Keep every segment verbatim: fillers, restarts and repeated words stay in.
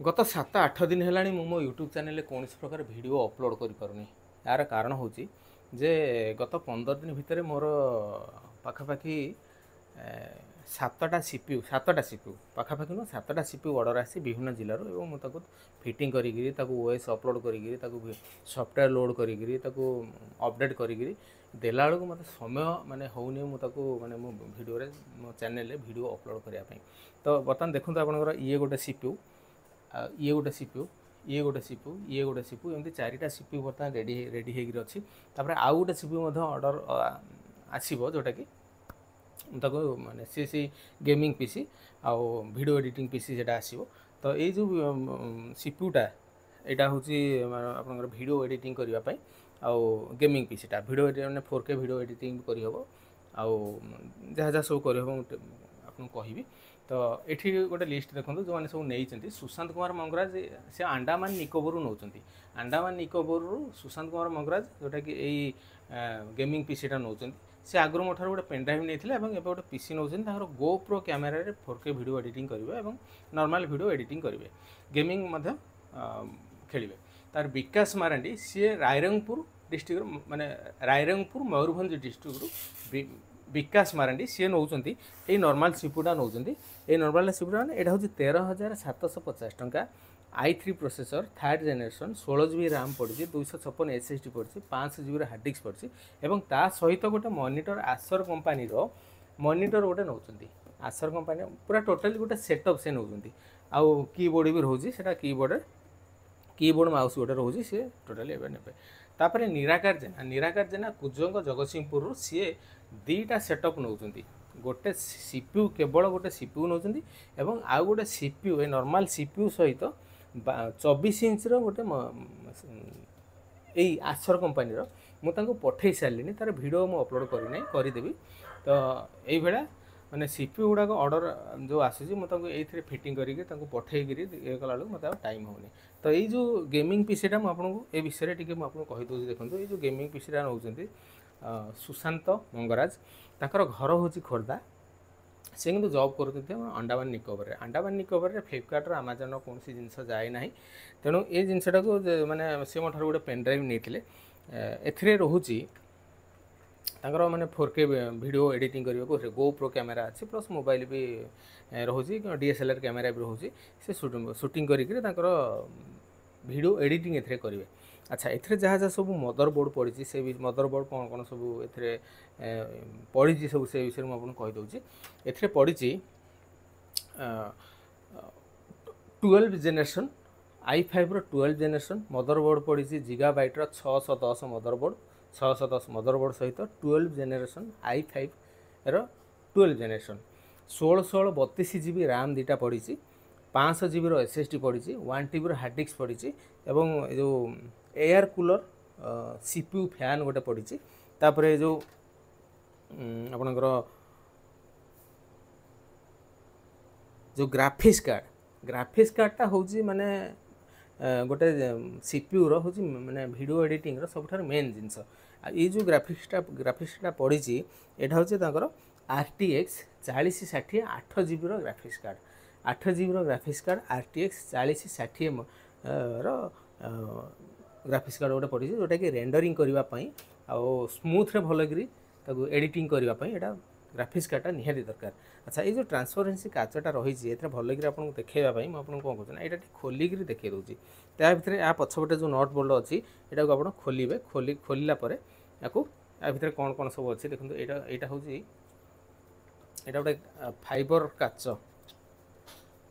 ଗତ ସାତ ଆଠ ଦିନ ହେଲାଣି ମୁଁ ମୋ ୟୁଟ୍ୟୁବ୍ ଚ୍ୟାନେଲରେ କୌଣସି ପ୍ରକାର ଭିଡ଼ିଓ ଅପଲୋଡ଼ କରିପାରୁନି। ଏହାର କାରଣ ହେଉଛି ଯେ ଗତ ପନ୍ଦର ଦିନ ଭିତରେ ମୋର ପାଖାପାଖି ସାତଟା ସି ପି ୟୁ ସାତଟା ସି ପି ୟୁ ପାଖାପାଖି ନୁହଁ, ସାତଟା ସି ପି ୟୁ ଅର୍ଡ଼ର ଆସିଛି ବିଭିନ୍ନ ଜିଲ୍ଲାରୁ ଏବଂ ମୁଁ ତାକୁ ଫିଟିଂ କରିକିରି, ତାକୁ ଓ ଏସ୍ ଅପଲୋଡ଼ କରିକିରି, ତାକୁ ସଫ୍ଟୱେର୍ ଲୋଡ଼୍ କରିକିରି, ତାକୁ ଅପଡ଼େଟ୍ କରିକିରି ଦେଲାବେଳକୁ ମୋତେ ସମୟ ମାନେ ହେଉନି ମୁଁ ତାକୁ ମାନେ ମୋ ଭିଡ଼ିଓରେ, ମୋ ଚ୍ୟାନେଲରେ ଭିଡ଼ିଓ ଅପଲୋଡ଼ କରିବା ପାଇଁ। ତ ବର୍ତ୍ତମାନ ଦେଖନ୍ତୁ, ଆପଣଙ୍କର ଇଏ ଗୋଟେ ସି ପି ୟୁ, ଆଉ ଇଏ ଗୋଟେ ସି ପି ୟୁ, ଇଏ ଗୋଟେ ସି ପି ୟୁ, ଇଏ ଗୋଟେ ସି ପି ୟୁ, ଏମିତି ଚାରିଟା ସି ପି ୟୁ ବର୍ତ୍ତମାନ ରେଡ଼ି ରେଡ଼ି ହେଇକିରି ଅଛି। ତାପରେ ଆଉ ଗୋଟେ ସି ପି ୟୁ ମଧ୍ୟ ଅର୍ଡ଼ର ଆସିବ, ଯେଉଁଟାକି ତାକୁ ମାନେ ସେ ସେଇ ଗେମିଂ ପି ସି ଆଉ ଭିଡ଼ିଓ ଏଡ଼ିଟିଂ ପି ସି ସେଇଟା ଆସିବ। ତ ଏଇ ଯେଉଁ ସି ପି ୟୁଟା, ଏଇଟା ହେଉଛି ଆପଣଙ୍କର ଭିଡ଼ିଓ ଏଡ଼ିଟିଂ କରିବା ପାଇଁ ଆଉ ଗେମିଂ ପି ସିଟା। ଭିଡ଼ିଓ ମାନେ ଫୋର୍ କେ ଭିଡ଼ିଓ ଏଡ଼ିଟିଂ କରିହେବ ଆଉ ଯାହା ଯାହା ସବୁ କରିହେବ ମୁଁ ଆପଣଙ୍କୁ କହିବି। ତ ଏଠି ଗୋଟେ ଲିଷ୍ଟ ଦେଖନ୍ତୁ, ଯେଉଁମାନେ ସବୁ ନେଇଛନ୍ତି। ସୁଶାନ୍ତ କୁମାର ମଙ୍ଗରାଜ, ସେ ଆଣ୍ଡାମାନ ନିକୋବରରୁ ନେଉଛନ୍ତି। ଆଣ୍ଡାମାନ ନିକୋବରରୁ ସୁଶାନ୍ତ କୁମାର ମଙ୍ଗରାଜ, ଯେଉଁଟାକି ଏଇ ଗେମିଂ ପି ସିଟା ନେଉଛନ୍ତି। ସେ ଆଗରୁ ମୋ ଠାରୁ ଗୋଟେ ପେନ୍ଡ୍ରାଇଭ୍ ନେଇଥିଲେ ଏବଂ ଏବେ ଗୋଟେ ପି ସି ନେଉଛନ୍ତି। ତାଙ୍କର ଗୋପ୍ରୋ କ୍ୟାମେରାରେ ଫୋର୍ କେ ଭିଡ଼ିଓ ଏଡ଼ିଟିଂ କରିବେ ଏବଂ ନର୍ମାଲ୍ ଭିଡ଼ିଓ ଏଡ଼ିଟିଂ କରିବେ, ଗେମିଂ ମଧ୍ୟ ଖେଳିବେ। ତାର ବିକାଶ ମାରାଣ୍ଡି, ସିଏ ରାଇରଙ୍ଗପୁର ଡିଷ୍ଟ୍ରିକ୍ଟରୁ, ମାନେ ରାଇରଙ୍ଗପୁର ମୟୂରଭଞ୍ଜ ଡିଷ୍ଟ୍ରିକ୍ଟରୁ ବିକାଶ ମାରାଣ୍ଡି, ସିଏ ନେଉଛନ୍ତି ଏଇ ନର୍ମାଲ୍ ସିପୁଟା ନେଉଛନ୍ତି। ଏଇ ନର୍ମାଲ୍ ସିପୁଟା ମାନେ ଏଇଟା ହେଉଛି ତେର ହଜାର ସାତଶହ ପଚାଶ ଟଙ୍କା, I three processor, third generation, ଷୋହଳ ଜି ବି ରାମ୍ ପଡ଼ିଛି, ଦୁଇଶହ ଛପନ ଏସ୍ ଏସ୍ ଡି ପଡ଼ିଛି, ପାଞ୍ଚଶହ ଜିବିର ହାର୍ଡ଼ ଡିସ୍କ ପଡ଼ିଛି ଏବଂ ତା ସହିତ ଗୋଟେ ମନିଟର, ଆସର କମ୍ପାନୀର ମନିଟର ଗୋଟେ ନେଉଛନ୍ତି। ଆସର କମ୍ପାନୀ ପୁରା ଟୋଟାଲି ଗୋଟେ ସେଟଅପ୍ ସେ ନେଉଛନ୍ତି ଆଉ କିବୋର୍ଡ଼ ବି ରହୁଛି, ସେଇଟା କିବୋର୍ଡ଼ରେ କିବୋର୍ଡ଼ ମାଉସ୍ ଗୋଟେ ରହୁଛି, ସିଏ ଟୋଟାଲି ଏବେ ନେବେ। ତାପରେ ନିରାକାର ଜେନା, ନିରାକାର ଜେନା କୁଜଙ୍ଗ ଜଗତସିଂହପୁରରୁ, ସିଏ ଦୁଇଟା ସେଟଅପ୍ ନେଉଛନ୍ତି। ଗୋଟେ ସି ପି ୟୁ, କେବଳ ଗୋଟେ ସି ପି ୟୁ ନେଉଛନ୍ତି ଏବଂ ଆଉ ଗୋଟେ ସି ପି ୟୁ, ଏ ନର୍ମାଲ୍ ସି ପି ୟୁ ସହିତ ଚବିଶ ଇଞ୍ଚର ଗୋଟେ ଏଇ ଆସର କମ୍ପାନୀର। ମୁଁ ତାଙ୍କୁ ପଠେଇ ସାରିଲିଣି, ତା'ର ଭିଡ଼ିଓ ମୁଁ ଅପଲୋଡ଼ କରିନାହିଁ, କରିଦେବି। ତ ଏଇଭଳିଆ ମାନେ ସି ପି ୟୁ ଗୁଡ଼ାକ ଅର୍ଡ଼ର ଯେଉଁ ଆସୁଛି, ମୁଁ ତାଙ୍କୁ ଏଇଥିରେ ଫିଟିଂ କରିକି ତାଙ୍କୁ ପଠେଇକିରି ଇଏ କଲାବେଳକୁ ମୋତେ ଆଉ ଟାଇମ୍ ହେଉନି। ତ ଏଇ ଯେଉଁ ଗେମିଂ ପିସିଟା, ମୁଁ ଆପଣଙ୍କୁ ଏ ବିଷୟରେ ଟିକେ ମୁଁ ଆପଣଙ୍କୁ କହିଦେଉଛି। ଦେଖନ୍ତୁ, ଏଇ ଯେଉଁ ଗେମିଂ ପିସିଟା ନେଉଛନ୍ତି ସୁଶାନ୍ତ ମଙ୍ଗରାଜ, ତାଙ୍କର ଘର ହେଉଛି ଖୋର୍ଦ୍ଧା, ସେ କିନ୍ତୁ ଜବ୍ କରୁଛନ୍ତି ଆମର ଆଣ୍ଡାମାନ ନିକୋବରରେ। ଆଣ୍ଡାମାନ ନିକୋବରରେ ଫ୍ଲିପକାର୍ଟର, ଆମାଜନର କୌଣସି ଜିନିଷ ଯାଏ ନାହିଁ। ତେଣୁ ଏ ଜିନିଷଟାକୁ ମାନେ ସେ ମୋ ଠାରୁ ଗୋଟେ ପେନ୍ଡ୍ରାଇଭ୍ ନେଇଥିଲେ। ଏଥିରେ ରହୁଛି ତାଙ୍କର ମାନେ ଫୋର୍ କେ ଭିଡ଼ିଓ ଏଡ଼ିଟିଂ କରିବାକୁ ଗୋପ୍ରୋ କ୍ୟାମେରା ଅଛି, ପ୍ଲସ୍ ମୋବାଇଲ ବି ରହୁଛି, D S L R camera ବି ରହୁଛି। ସେ ସୁଟିଂ କରିକିରି ତାଙ୍କର ଭିଡ଼ିଓ ଏଡ଼ିଟିଂ ଏଥିରେ କରିବେ। ଆଚ୍ଛା, ଏଥିରେ ଯାହା ଯାହା ସବୁ ମଦର ବୋର୍ଡ଼ ପଡ଼ିଛି, ସେ ବି ମଦର ବୋର୍ଡ଼ କ'ଣ କ'ଣ ସବୁ ଏଥିରେ ପଡ଼ିଛି ସବୁ, ସେ ବିଷୟରେ ମୁଁ ଆପଣଙ୍କୁ କହିଦେଉଛି। ଏଥିରେ ପଡ଼ିଛି twelve generation, I ଫାଇଭ୍ର twelve generation mother board ପଡ଼ିଛି, ଜିଗାବାଇଟ୍ର ଛଅଶହ ଦଶ ମଦର ବୋର୍ଡ଼, ଛଅଶହ ଦଶ ମଦର ବୋର୍ଡ଼ ସହିତ twelve generation, I ଫାଇଭ୍ର twelve generation, ଷୋହଳ ଷୋହଳ ବତିଶ ଜି ବି ରାମ୍ ଦୁଇଟା ପଡ଼ିଛି, ପାଞ୍ଚଶହ ଜିବିର ଏସ୍ ଏସ୍ ଡି ପଡ଼ିଛି, ୱାନ୍ ଟିବିର ହାର୍ଡ଼ ଡିସ୍କ ପଡ଼ିଛି ଏବଂ ଏ ଯେଉଁ air cooler C P U fan ଗୋଟେ ପଡ଼ିଛି। ତାପରେ ଏ ଯେଉଁ ଆପଣଙ୍କର ଯେଉଁ ଗ୍ରାଫିକ୍ସ କାର୍ଡ଼, ଗ୍ରାଫିକ୍ସ କାର୍ଡ଼ଟା ହେଉଛି ମାନେ ଗୋଟେ ସି ପି ୟୁର ହେଉଛି ମାନେ ଭିଡ଼ିଓ ଏଡ଼ିଟିଂର ସବୁଠାରୁ ମେନ୍ ଜିନିଷ। ଆଉ ଏଇ ଯେଉଁ ଗ୍ରାଫିକ୍ସଟା ଗ୍ରାଫିକ୍ସଟା ପଡ଼ିଛି, ଏଇଟା ହେଉଛି ତାଙ୍କର ଆର୍ ଟି ଏକ୍ସ ଚାଳିଶ ଷାଠିଏ, ଆଠ ଜିବିର ଗ୍ରାଫିକ୍ସ କାର୍ଡ଼, ଆଠ ଜିବିର ଗ୍ରାଫିକ୍ସ କାର୍ଡ଼, ଆର୍ ଟି ଏକ୍ସ ଚାଳିଶ ଷାଠିଏ ର ଗ୍ରାଫିକ୍ସ କାର୍ଡ଼ ଗୋଟେ ପଡ଼ିଛି, ଯେଉଁଟାକି ରେଣ୍ଡରିଂ କରିବା ପାଇଁ ଆଉ ସ୍ମୁଥରେ ଭଲକିରି ତାକୁ ଏଡ଼ିଟିଂ କରିବା ପାଇଁ ଏଇଟା ଗ୍ରାଫିକ୍ସ କାର୍ଡ଼ଟା ନିହାତି ଦରକାର। ଆଚ୍ଛା, ଏଇ ଯେଉଁ ଟ୍ରାନ୍ସପରେନ୍ସି କାଚଟା ରହିଛି, ଏଥିରେ ଭଲକିରି ଆପଣଙ୍କୁ ଦେଖାଇବା ପାଇଁ ମୁଁ ଆପଣଙ୍କୁ କ'ଣ କରୁଛି ନା ଏଇଟା ଟିକେ ଖୋଲିକିରି ଦେଖାଇ ଦେଉଛି। ତା ଭିତରେ ୟା ପଛପଟେ ଯେଉଁ not bolt ଅଛି, ଏଇଟାକୁ ଆପଣ ଖୋଲିବେ। ଖୋଲି ଖୋଲିଲା ପରେ ୟାକୁ ୟା ଭିତରେ କ'ଣ କ'ଣ ସବୁ ଅଛି ଦେଖନ୍ତୁ। ଏଇଟା ଏଇଟା ହେଉଛି, ଏଇଟା ଗୋଟେ ଫାଇବର କାଚ,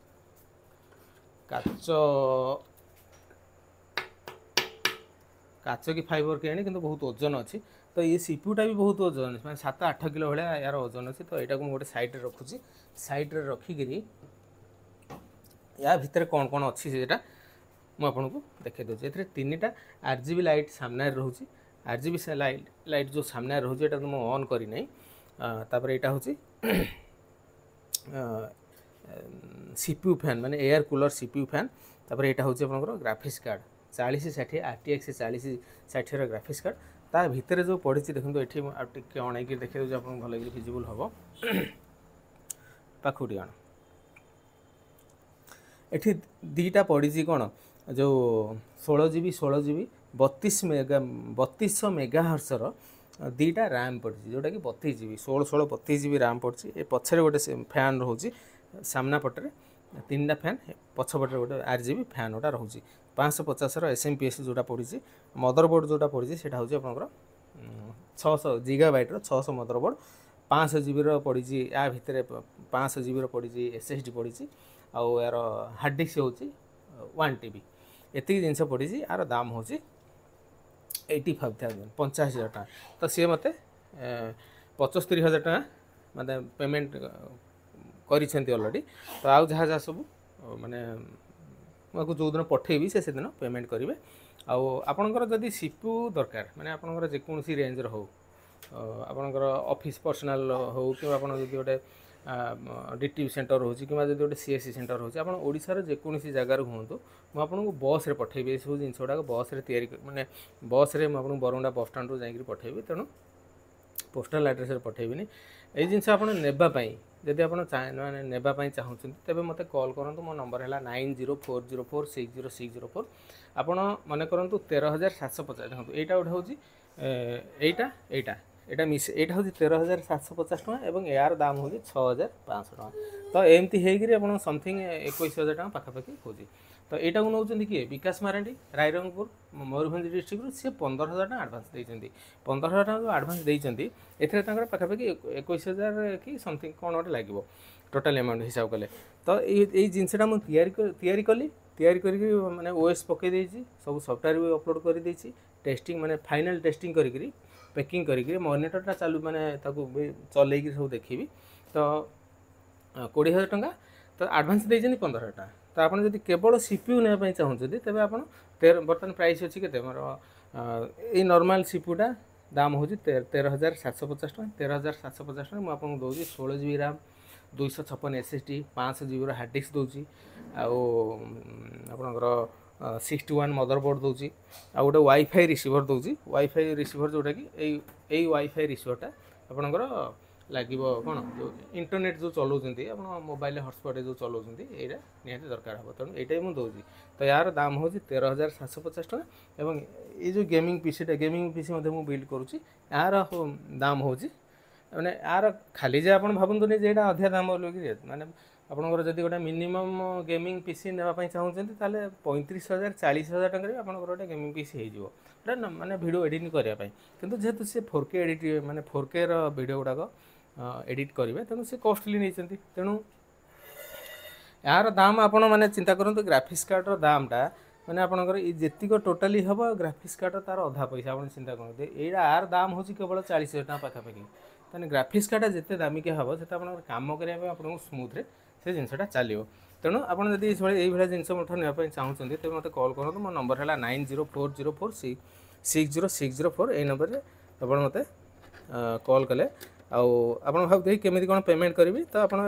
କାଚ କାଚ କି ଫାଇବର କେଜାଣି, କିନ୍ତୁ ବହୁତ ଓଜନ ଅଛି। ତ ଏ ସି ପି ୟୁଟା ବି ବହୁତ ଓଜନ ଅଛି, ମାନେ ସାତ ଆଠ କିଲୋ ଭଳିଆ ଏହାର ଓଜନ ଅଛି। ତ ଏଇଟାକୁ ମୁଁ ଗୋଟେ ସାଇଡ଼୍ରେ ରଖୁଛି। ସାଇଡ଼୍ରେ ରଖିକିରି ୟା ଭିତରେ କ'ଣ କ'ଣ ଅଛି ସେଇଟା ମୁଁ ଆପଣଙ୍କୁ ଦେଖାଇ ଦେଉଛି। ଏଥିରେ ତିନିଟା ଆର୍ ଜି ବି ଲାଇଟ୍ ସାମ୍ନାରେ ରହୁଛି। ଆର୍ ଜି ବି ଲାଇଟ୍ ଲାଇଟ୍ ଯେଉଁ ସାମ୍ନାରେ ରହୁଛି, ଏଇଟା ତ ମୁଁ ଅନ୍ କରିନାହିଁ। ତାପରେ ଏଇଟା ହେଉଛି ସି ପି ୟୁ ଫ୍ୟାନ୍, ମାନେ air cooler C P U fan. ତାପରେ ଏଇଟା ହେଉଛି ଆପଣଙ୍କର ଗ୍ରାଫିକ୍ସ କାର୍ଡ଼ ଚାଳିଶ ଷାଠିଏ, ଆର୍ ଟି ଏକ୍ସ ଚାଳିଶ ଷାଠିଏର ଗ୍ରାଫିକ୍ସ କାର୍ଡ଼। ତା ଭିତରେ ଯେଉଁ ପଡ଼ିଛି ଦେଖନ୍ତୁ, ଏଠି ମୁଁ ଆଉ ଟିକେ ଅଣେଇକି ଦେଖାଇ ଦେଉଛି ଆପଣଙ୍କୁ, ଭଲକିରି ଭିଜିବୁଲ୍ ହେବ। ପାଖକୁ ଟିକେ ଆଣ। ଏଠି ଦୁଇଟା ପଡ଼ିଛି କ'ଣ ଯେଉଁ ଷୋହଳ ଜି ବି ଷୋହଳ ଜି ବି ବତିଶ ମେଗା ବତିଶଶହ ମେଗା ହର୍ସର ଦୁଇଟା ରାମ୍ ପଡ଼ିଛି ଯେଉଁଟାକି ବତିଶ ଜି ବି ଷୋହଳ ଷୋହଳ ବତିଶ ଜି ବି ରାମ୍ ପଡ଼ିଛି ଏ ପଛରେ ଗୋଟେ ଫ୍ୟାନ୍ ରହୁଛି ସାମ୍ନା ପଟରେ ତିନିଟା ଫ୍ୟାନ୍ ପଛପଟରେ ଗୋଟେ ଆର୍ ଜି ବି ଫ୍ୟାନ୍ ଗୋଟା ରହୁଛି ପାଞ୍ଚଶହ ପଚାଶର ଏସ୍ ଏମ୍ ପି ଏସ୍ ଯେଉଁଟା ପଡ଼ିଛି ମଦରବୋର୍ଡ଼ ଯେଉଁଟା ପଡ଼ିଛି ସେଇଟା ହେଉଛି ଆପଣଙ୍କର ଛଅଶହ ଜିଗା ବାଇଟ୍ର ଛଅଶହ ମଦରବୋର୍ଡ଼ ପାଞ୍ଚଶହ ଜିବିର ପଡ଼ିଛି ୟା ଭିତରେ ପାଞ୍ଚଶହ ଜିବିର ପଡ଼ିଛି ଏସ୍ ଏସ୍ ଡି ପଡ଼ିଛି ଆଉ ଏହାର ହାର୍ଡ଼ ଡିସ୍କ ହେଉଛି ୱାନ୍ ଟି ବି ଏତିକି ଜିନିଷ ପଡ଼ିଛି ୟାର ଦାମ ହେଉଛି ଏଇଟି ଫାଇଭ୍ ଥାଉଜେଣ୍ଡ ପଞ୍ଚାଅଶୀ ହଜାର ଟଙ୍କା ତ ସିଏ ମୋତେ ପଞ୍ଚସ୍ତରୀ ହଜାର ଟଙ୍କା ମାନେ ପେମେଣ୍ଟ କରିଛନ୍ତି ଅଲରେଡ଼ି ତ ଆଉ ଯାହା ଯାହା ସବୁ ମାନେ ମୁଁ ଆକୁ ଯେଉଁଦିନ ପଠେଇବି ସେ ସେଦିନ ପେମେଣ୍ଟ କରିବେ ଆଉ ଆପଣଙ୍କର ଯଦି ସି ପି ୟୁ ଦରକାର ମାନେ ଆପଣଙ୍କର ଯେକୌଣସି ରେଞ୍ଜର ହେଉ ଆପଣଙ୍କର ଅଫିସ୍ ପର୍ସନାଲ୍ ହେଉ କିମ୍ବା ଆପଣ ଯଦି ଗୋଟେ ଡି ଟି ପି ସେଣ୍ଟର ରହୁଛି କିମ୍ବା ଯଦି ଗୋଟେ ସି ଏସ୍ ସି ସେଣ୍ଟର ରହୁଛି ଆପଣ ଓଡ଼ିଶାର ଯେକୌଣସି ଜାଗାରୁ ହୁଅନ୍ତୁ ମୁଁ ଆପଣଙ୍କୁ ବସ୍ରେ ପଠେଇବି ଏସବୁ ଜିନିଷ ଗୁଡ଼ାକ ବସ୍ରେ ତିଆରି ମାନେ ବସ୍ରେ ମୁଁ ଆପଣଙ୍କୁ ବରମୁଣ୍ଡା ବସ୍ ଷ୍ଟାଣ୍ଡରୁ ଯାଇକରି ପଠେଇବି ତେଣୁ ପୋଷ୍ଟାଲ୍ ଆଡ୍ରେସ୍ରେ ପଠେଇବିନି ଏଇ ଜିନିଷ ଆପଣ ନେବା ପାଇଁ ଯଦି ଆପଣ ମାନେ ନେବା ପାଇଁ ଚାହୁଁଛନ୍ତି ତେବେ ମୋତେ କଲ୍ କରନ୍ତୁ ମୋ ନମ୍ବର ହେଲା nine zero four zero four six zero six zero four ଆପଣ ମନେ କରନ୍ତୁ ତେର ହଜାର ସାତଶହ ପଚାଶ ଦେଖନ୍ତୁ ଏଇଟା ଗୋଟେ ହେଉଛି ଏଇଟା ଏଇଟା ଏଇଟା ମିଶ ଏଇଟା ହେଉଛି ତେର ହଜାର ସାତଶହ ପଚାଶ ଟଙ୍କା ଏବଂ ଏହାର ଦାମ ହେଉଛି ଛଅ ହଜାର ପାଞ୍ଚଶହ ଟଙ୍କା ତ ଏମିତି ହେଇକିରି ଆପଣ ସମଥିଙ୍ଗ ଏକୋଇଶ ହଜାର ଟଙ୍କା ପାଖାପାଖି ହେଉଛି ତ ଏଇଟାକୁ ନେଉଛନ୍ତି କିଏ ବିକାଶ ମାରାଣ୍ଡି ରାଇରଙ୍ଗପୁର ମୟୂରଭଞ୍ଜ ଡିଷ୍ଟ୍ରିକ୍ଟରୁ ସିଏ ପନ୍ଦର ହଜାର ଟଙ୍କା ଆଡ଼ଭାନ୍ସ ଦେଇଛନ୍ତି ପନ୍ଦର ହଜାର ଟଙ୍କା ଯେଉଁ ଆଡ଼ଭାନ୍ସ ଦେଇଛନ୍ତି ଏଥିରେ ତାଙ୍କର ପାଖାପାଖି ଏକୋଇଶ ହଜାର କି ସମଥିଙ୍ଗ କ'ଣ ଗୋଟେ ଲାଗିବ ଟୋଟାଲ୍ ଆମାଉଣ୍ଟ ହିସାବ କଲେ ତ ଏଇ ଏଇ ଜିନିଷଟା ମୁଁ ତିଆରି ତିଆରି କଲି ତିଆରି କରିକି ମାନେ ଓ ଏସ୍ ପକାଇ ଦେଇଛି ସବୁ ସଫ୍ଟୱେର୍ ବି ଅପଲୋଡ଼ କରିଦେଇଛି ଟେଷ୍ଟିଂ ମାନେ ଫାଇନାଲ୍ ଟେଷ୍ଟିଂ କରିକିରି ପ୍ୟାକିଂ କରିକିରି ମନିଟରଟା ଚାଲୁ ମାନେ ତାକୁ ବି ଚଲେଇକି ସବୁ ଦେଖିବି ତ କୋଡ଼ିଏ ହଜାର ଟଙ୍କା ତ ଆଡ଼ଭାନ୍ସ ଦେଇଛନ୍ତି ପନ୍ଦର ହଜାର ଟଙ୍କା ତ ଆପଣ ଯଦି କେବଳ ସି ପି ୟୁ ନେବା ପାଇଁ ଚାହୁଁଛନ୍ତି ତେବେ ଆପଣ ତେର ବର୍ତ୍ତମାନ ପ୍ରାଇସ୍ ଅଛି କେତେ ମୋର ଏଇ ନର୍ମାଲ୍ ସି ପି ୟୁଟା ଦାମ ହେଉଛି ତେର ହଜାର ସାତଶହ ପଚାଶ ଟଙ୍କା ତେର ହଜାର ସାତଶହ ପଚାଶ ଟଙ୍କା ମୁଁ ଆପଣଙ୍କୁ ଦେଉଛି ଷୋହଳ ଜି ବି ରାମ୍ ଦୁଇଶହ ଛପନ ଏସ୍ ଏସ୍ ଡି ପାଞ୍ଚଶହ ଜିବିର ହାର୍ଡ଼ ଡିସ୍କ ଦେଉଛି ଆଉ ଆପଣଙ୍କର ସିକ୍ସଟି ୱାନ୍ ମଦରବୋର୍ଡ଼ ଦେଉଛି ଆଉ ଗୋଟେ ୱାଇଫାଇ ରିସିଭର୍ ଦେଉଛି ୱାଇଫାଇ ରିସିଭର୍ ଯେଉଁଟାକି ଏଇ ଏଇ ୱାଇଫାଇ ରିସିଭର୍ଟା ଆପଣଙ୍କର ଲାଗିବ କ'ଣ ଯେଉଁ ଇଣ୍ଟରନେଟ୍ ଯେଉଁ ଚଲାଉଛନ୍ତି ଆପଣ ମୋବାଇଲରେ ହଟସ୍ପଟ୍ରେ ଯେଉଁ ଚଲାଉଛନ୍ତି ଏଇଟା ନିହାତି ଦରକାର ହେବ ତେଣୁ ଏଇଟା ବି ମୁଁ ଦେଉଛି ତ ଏହାର ଦାମ ହେଉଛି ତେର ହଜାର ସାତଶହ ପଚାଶ ଟଙ୍କା ଏବଂ ଏଇ ଯେଉଁ ଗେମିଂ ପିସିଟା ଗେମିଂ ପିସି ମଧ୍ୟ ମୁଁ ବିଲ୍ଡ କରୁଛି ଏହାର ଦାମ ହେଉଛି ମାନେ ଏହାର ଖାଲି ଯେ ଆପଣ ଭାବନ୍ତୁନି ଯେ ଏଇଟା ଅଧିକା ଦାମ ବୋଲି ମାନେ ଆପଣଙ୍କର ଯଦି ଗୋଟେ ମିନିମମ୍ ଗେମିଂ ପିସି ନେବା ପାଇଁ ଚାହୁଁଛନ୍ତି ତାହେଲେ ପଇଁତିରିଶ ହଜାର ଚାଳିଶ ହଜାର ଟଙ୍କାରେ ବି ଆପଣଙ୍କର ଗୋଟେ ଗେମିଂ ପିସି ହେଇଯିବ ଏଇଟା ମାନେ ଭିଡ଼ିଓ ଏଡ଼ିଟିଂ କରିବା ପାଇଁ କିନ୍ତୁ ଯେହେତୁ ସେ ଫୋର୍ କେ ଏଡ଼ିଟ୍ ମାନେ ଫୋର୍ କେର ଭିଡ଼ିଓ ଗୁଡ଼ାକ ଏଡ଼ିଟ୍ କରିବେ ତେଣୁ ସେ କଷ୍ଟଲି ନେଇଛନ୍ତି ତେଣୁ ଏହାର ଦାମ ଆପଣ ମାନେ ଚିନ୍ତା କରନ୍ତୁ ଗ୍ରାଫିକ୍ସ କାର୍ଡ଼ର ଦାମଟା ମାନେ ଆପଣଙ୍କର ଏଇ ଯେତିକ ଟୋଟାଲି ହେବ ଗ୍ରାଫିକ୍ସ କାର୍ଡ଼ର ତା'ର ଅଧା ପଇସା ଆପଣ ଚିନ୍ତା କରନ୍ତୁ ଏଇଟା ଆର ଦାମ ହେଉଛି କେବଳ ଚାଳିଶ ହଜାର ଟଙ୍କା ପାଖାପାଖି ତାହେଲେ ଗ୍ରାଫିକ୍ସ କାର୍ଡ଼ଟା ଯେତେ ଦାମିକିଆ ହେବ ସେତେ ଆପଣଙ୍କର କାମ କରିବା ପାଇଁ ଆପଣଙ୍କୁ ସ୍ମୁଥରେ ସେ ଜିନିଷଟା ଚାଲିବ ତେଣୁ ଆପଣ ଯଦି ଏଇଭଳି ଏଇଭଳିଆ ଜିନିଷ ମୋ ଠାରୁ ନେବା ପାଇଁ ଚାହୁଁଛନ୍ତି ତେବେ ମୋତେ କଲ୍ କରନ୍ତୁ ମୋ ନମ୍ବର ହେଲା nine zero four zero four six six zero six zero four ଏଇ ନମ୍ବରରେ ଆପଣ ମୋତେ କଲ୍ କଲେ ଆଉ ଆପଣ ଭାବୁଥିବେ କେମିତି କ'ଣ ପେମେଣ୍ଟ କରିବି ତ ଆପଣ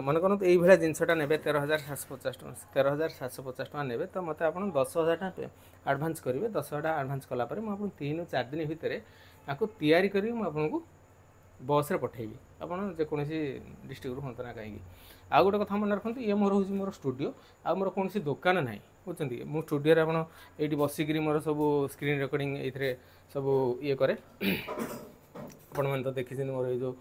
ମନେ କରନ୍ତୁ ଏଇଭଳିଆ ଜିନିଷଟା ନେବେ ତେର ହଜାର ସାତଶହ ପଚାଶ ଟଙ୍କା ତେର ହଜାର ସାତଶହ ପଚାଶ ଟଙ୍କା ନେବେ ତ ମୋତେ ଆପଣ ଦଶ ହଜାର ଟଙ୍କା ଆଡ଼ଭାନ୍ସ କରିବେ ଦଶ ହଜାର ଟଙ୍କା ଆଡ଼ଭାନ୍ସ କଲା ପରେ ମୁଁ ଆପଣଙ୍କୁ ତିନିରୁ ଚାରି ଦିନ ଭିତରେ ଆକୁ ତିଆରି କରିକି ମୁଁ ଆପଣଙ୍କୁ ବସ୍ରେ ପଠାଇବି ଆପଣ ଯେକୌଣସି ଡିଷ୍ଟ୍ରିକ୍ଟରୁ ହୁଅନ୍ତୁ ନା କାହିଁକି ଆଉ ଗୋଟେ କଥା ମନେ ରଖନ୍ତୁ ଇଏ ମୋର ହେଉଛି ମୋର ଷ୍ଟୁଡ଼ିଓ ଆଉ ମୋର କୌଣସି ଦୋକାନ ନାହିଁ ବୁଝୁଛନ୍ତି ମୁଁ ଷ୍ଟୁଡ଼ିଓରେ ଆପଣ ଏଇଠି ବସିକିରି ମୋର ସବୁ ସ୍କ୍ରିନ୍ ରେକର୍ଡ଼ିଂ ଏଇଥିରେ ସବୁ ଇଏ କରେ ଆପଣମାନେ ତ ଦେଖିଛନ୍ତି ମୋର ଏଇ ଯେଉଁ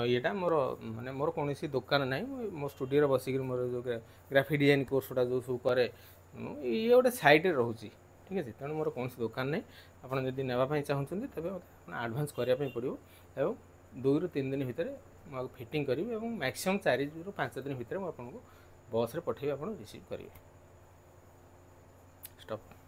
ଇଏଟା ମୋର ମାନେ ମୋର କୌଣସି ଦୋକାନ ନାହିଁ ମୁଁ ମୋ ଷ୍ଟୁଡ଼ିଓରେ ବସିକିରି ମୋର ଯେଉଁ ଗ୍ରାଫିକ୍ ଡିଜାଇନ୍ କୋର୍ସଟା ଯେଉଁ ସବୁ କରେ ମୁଁ ଇଏ ଗୋଟେ ସାଇଡ଼୍ରେ ରହୁଛି ଠିକ୍ ଅଛି ତେଣୁ ମୋର କୌଣସି ଦୋକାନ ନାହିଁ ଆପଣ ଯଦି ନେବା ପାଇଁ ଚାହୁଁଛନ୍ତି ତେବେ ମୋତେ ଆପଣ ଆଡ଼ଭାନ୍ସ କରିବା ପାଇଁ ପଡ଼ିବ ଏବଂ ଦୁଇରୁ ତିନି ଦିନ ଭିତରେ ମୁଁ ଆକୁ ଫିଟିଂ କରିବି ଏବଂ ମ୍ୟାକ୍ସିମମ୍ ଚାରିରୁ ପାଞ୍ଚ ଦିନ ଭିତରେ ମୁଁ ଆପଣଙ୍କୁ ବସ୍ରେ ପଠାଇବି ଆପଣ ରିସିଭ୍ କରିବେ ଷ୍ଟପ୍